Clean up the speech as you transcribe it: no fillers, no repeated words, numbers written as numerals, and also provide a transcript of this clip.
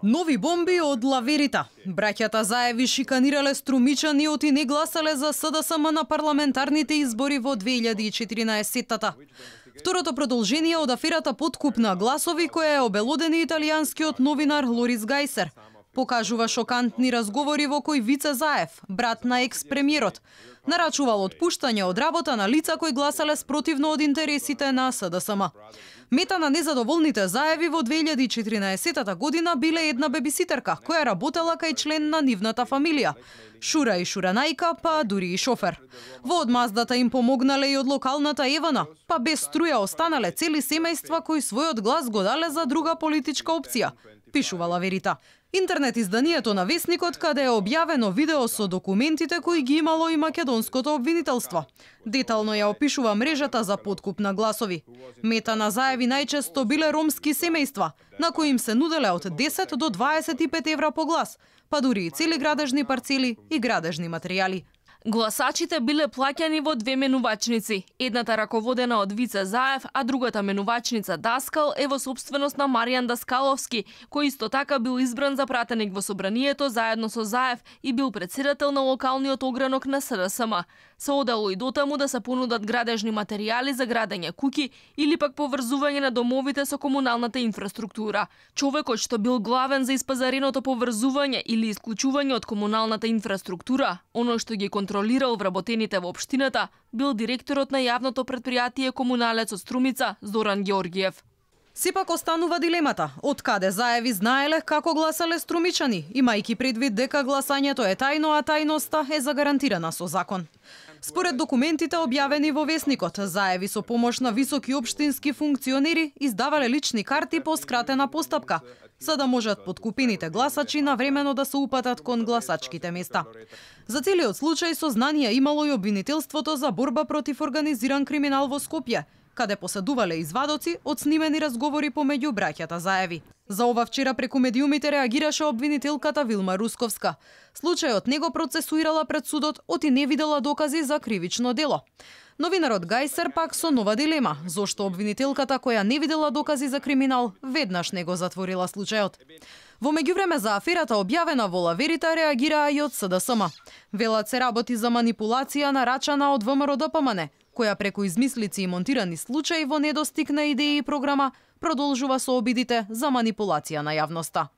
Нови бомби од Лаверита. Браќата Заеви шиканирале струмичани оти не гласале за СДСМ на парламентарните избори во 2014-тата. Второто продолжение од аферата подкуп на гласови која е обелодени италијанскиот новинар Лорис Гајсер. Покажува шокантни разговори во кои Вице Заев, брат на екс-премиерот, нарачувал отпуштање од работа на лица кои гласале спротивно од интересите на СДСМ. Мета на незадоволните Заеви во 2014 година биле една бебиситерка која работела кај член на нивната фамилија, Шура и Шуранајка, па дури и шофер. Во одмаздата им помогнале и од локалната Евана, па без струја останале цели семејства кои својот глас го дале за друга политичка опција, пишува Лаверита. Интернет изданието на Весникот, каде е објавено видео со документите кои ги имало и македонското обвинителство. Детално ја опишува мрежата за подкуп на гласови. Мета на Заеви најчесто биле ромски семејства, на кои им се нуделе од 10 до 25 евра по глас, па дури и цели градежни парцели и градежни материјали. Гласачите биле плаќани во две менувачници. Едната раководена од Вице Заев, а другата менувачница Даскал е во собственост на Маријан Даскаловски, кој исто така бил избран за пратеник во собранието заедно со Заев и бил претседател на локалниот огранок на СДСМ. Се одело и дотаму да се понудат градежни материјали за градење куќи или пак поврзување на домовите со комуналната инфраструктура. Човекот што бил главен за испазареното поврзување или исклучување од комуналната инфраструктура, оној што ги контролирал вработените во општината, бил директорот на јавното претпријатие Комуналец од Струмица Зоран Ѓорѓиев. Сепак останува дилемата, од каде Заеви знаеле како гласале струмичани, имајќи предвид дека гласањето е тајно, а тајноста е загарантирана со закон. Според документите објавени во Весникот, Заеви со помош на високи општински функционери издавале лични карти по скратена постапка, за да можат подкупените гласачи навремено да се упатат кон гласачките места. За целиот случај со знанија имало и обвинителството за борба против организиран криминал во Скопје, каде поседувале извадоци од снимени разговори помеѓу браќата Заеви. За ова вчера преку медиумите реагираше обвинителката Вилма Русковска. Случајот не го процесуирала пред судот, оти не видела докази за кривично дело. Новинарот Гајсер пак со нова дилема, зошто обвинителката која не видела докази за криминал, веднаш не го затворила случајот. Во меѓувреме за аферата објавена во Лаверита реагираа и од СДСМ. Велат се работи за манипулација нарачана од ВМРО-ДПМН, која преку измислици и монтирани случаи во недостиг на идеи и програма продолжува со обидите за манипулација на јавноста.